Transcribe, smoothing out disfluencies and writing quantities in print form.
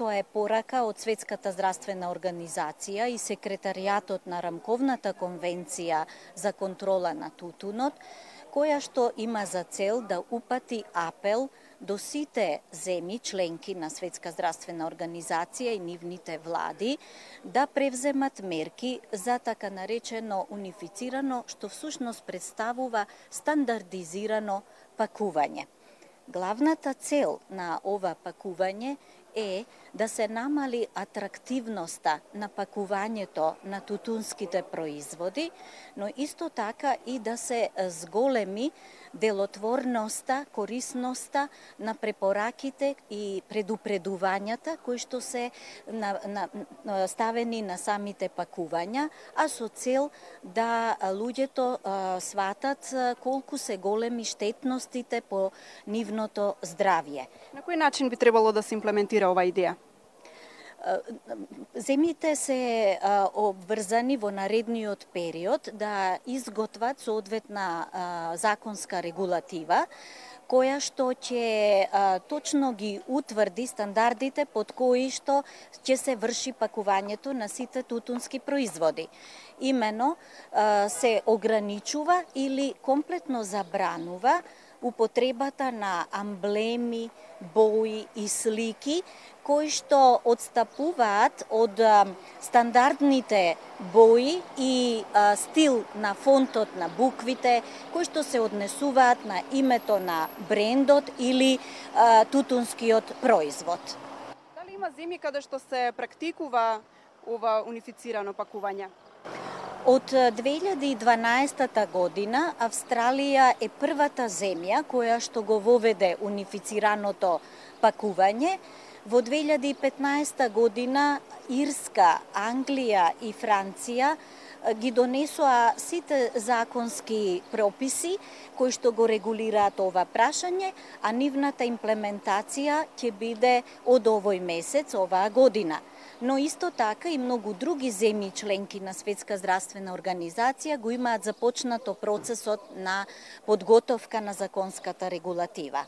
тоа е порака од Светската здравствена организација и секретаријатот на Рамковната конвенција за контрола на тутунот, која што има за цел да упати апел до сите земји членки на Светска здравствена организација и нивните влади да превземат мерки за така наречено унифицирано, што всушност представува стандардизирано пакување. Главната цел на ова пакување е да се намали атрактивноста на пакувањето на тутунските производи, но исто така и да се зголеми делотворноста, корисноста на препораките и предупредувањата кои што се ставени на самите пакувања, а со цел да луѓето сватат колку се големи штетностите по нивното здравје. На кој начин би требало да се имплементира оваа идеја? Земјите се обврзани во наредниот период да изготват соодветна законска регулатива, која што ќе точно ги утврди стандардите под кои што ќе се врши пакувањето на сите тутунски производи. Имено се ограничува или комплетно забранува употребата на амблеми, бои и слики кои што одстапуваат од стандардните бои и стил на фонтот на буквите, кои што се однесуваат на името на брендот или тутунскиот производ. Дали има земји каде што се практикува ова унифицирано пакување? Од 2012 година Австралија е првата земја која што го воведе унифицираното пакување. Во 2015 година Ирска, Англија и Франција ги донесоа сите законски прописи кои што го регулираат ова прашање, а нивната имплементација ќе биде од овој месец, оваа година. Но исто така и многу други земји членки на Светска здравствена организација го имаат започнато процесот на подготовка на законската регулатива.